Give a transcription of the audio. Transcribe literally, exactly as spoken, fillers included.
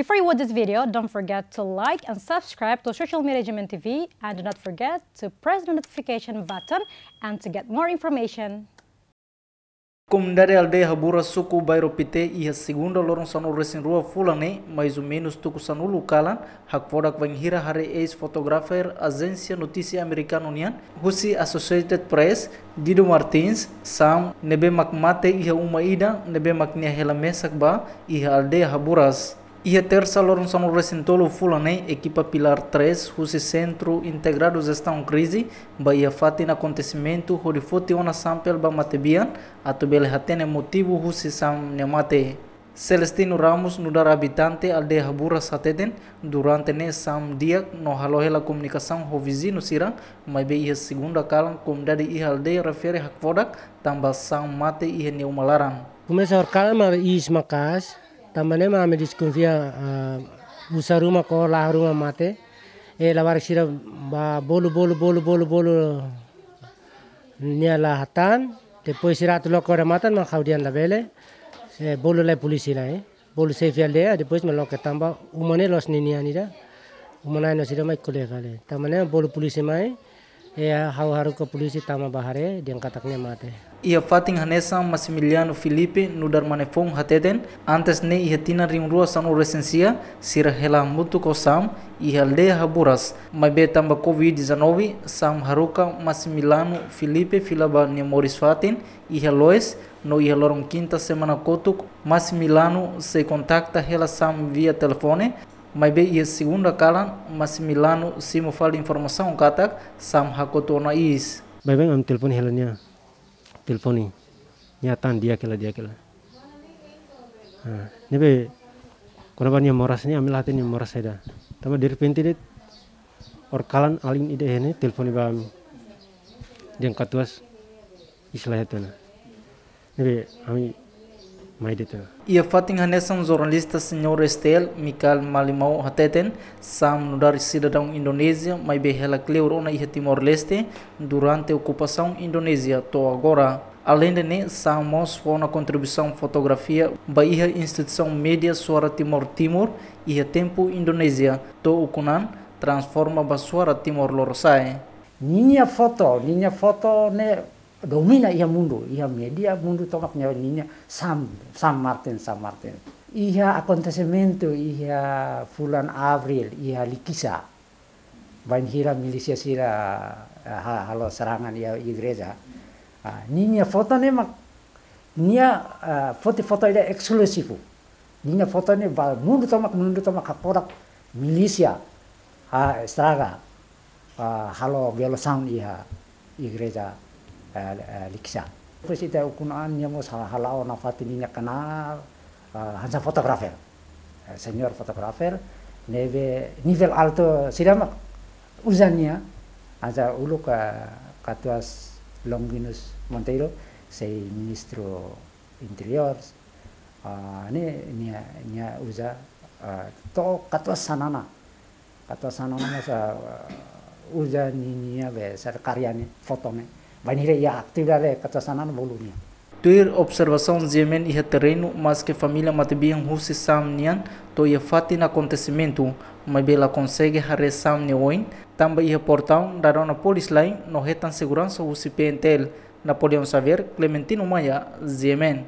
Before you watch this video, don't forget to like and subscribe to Social Media G M N T V, and do not forget to press the notification button and to get more information. Komunidade aldeia Haburas, suku Bairro Pité, iha segunda loron sanulu-resin-rua fulan ne'e, mais ou menus tuku sanulu kalan, hakfodak bainhira haree eis-fotografer ajénsia notísia amerikanu nian, husi Associated Press, Guido Martins, Sam, ne'ebé mak mate iha uma ida ne'ebé mak nia hela mesak ba iha aldeia Haburas. Iha Tersa loron sanulu-resin-tolu fulan ne'e, ekipa Pilar três husi Sentru Integradu Jestaun Krize bá iha fatin akontesimentu hodi foti ona sampel ba matebian atu bele hatene motivu husi Sam nia mate. Celestino Ramos, nu'udar abitante aldeia Haburas, hateten, durante ne'e Sam di'ak no halo hela komunikasaun ho viziñu sira, maibé iha segunda kalan komunidade iha aldeia refere hakfodak tanba Sam mate iha nia uma laran. Komesa horikalan mak iis maka'as, tanba ne'e mak ami deskonfia, ah, uza ruma ka laho ruma mate. E labarik sira bá bolu, bolu, bolu, bolu, bolu, nia la hatán. Depois sira atu loke odamatan mak ha'u dehan labele. E bolu lai polísia lai. Bolu xefe aldeia, depois mak loke tanba uma ne'e la'ós ninian ida. Uma na'in no sira mai ko'alia fali. Tanba ne'e bolu polísia mai. E ha'u haruka polísia tama bá haree, dehan katak nia mate. Iha fatin hanesan Maximiliano Filipe, nu'udar mane foun, hateten, antes ne'e iha tinan rihun rua sanulu-resin-sia, sira hela hamutuk ho Sam iha aldeia Haburas. Maibé tanba covid dezanove, Sam haruka Maximiliano Filipe fila ba nia moris fatin iha Loes, no iha loron kinta semana kotuk, Maximiliano sei kontakta hela Sam via telefone, maibé iha segunda kalan, Maximiliano simu fali informasaun katak Sam hakotu ona iis. Baibain ami telefone hela nia. Telefone. Nia hatán di'ak hela, di'ak hela. Ah, ne'ebé kona-ba nia moras ne'e, ami la hatene nia moras saida. Tanba derrepente de'it, horikalan alin ida iha ne'e telefone ba ami. Dehan katuas iis la hetan ona. Ne'ebé ami mai de'it ona. Iha fatin hanesan jornalista Señór S T L, Mikael Malimau, hateten, Sam nu'udar sidadaun Indonézia, maibé hela kleur ona iha Timor-Leste durante okupasaun Indonézia to'o agora. Aleinde ne'e, Sam mós fó ona kontribuisaun fotografia ba iha instituisaun média Suara Timor Timur iha tempu Indonézia, to'o ukun-an transforma ba Suara Timor Lorosa'e. Ninia foto, ninia foto ne'e domina iha mundu, iha média mundu tomak nia, ninia Sam, Sam Martin, Sam Martin. Iha akontesimentu iha fulan Abríl, iha Likisá. Bainhira milísia sira, eh, ha-, halo serangan iha igreja. Ah, ninia foto ne'e mak, nia, eh, foti foto ida ekskluzivu. Ninia foto ne'e ba mundu tomak, mundu tomak hakfodak milísia, ah, estraga, ah, halo violasaun iha igreja, eh, eh, Likisá. Depois ita ukun-an nia mós ha-, hala'o nafatin ninia kanál, ah, hanesan fotografer. Eh, señór fotografer, ne'ebé nivel altu sira mak uza nia, hanesan uluk, eh, katuas Longuinus Monteiro, sei ministru interiór, ah, ne'e nia, nia uza, ah, to'o katuas Xanana. Katuas Xanana mós, ah, uza ninia be sira karya ne'e, foto ne'e. Bainhira iha atividade katuas Xanana bolu nia. Tuir observasaun GMN iha terrenu, maske família matebian husi Sam nian to'o iha fatin akontesimentu, maibé la konsege haree Sam nia oin, tanba iha portaun dada ona polis lain no hetan seguransa husi PNTL. Napoleão Xavier, Clementino Maia, GMN.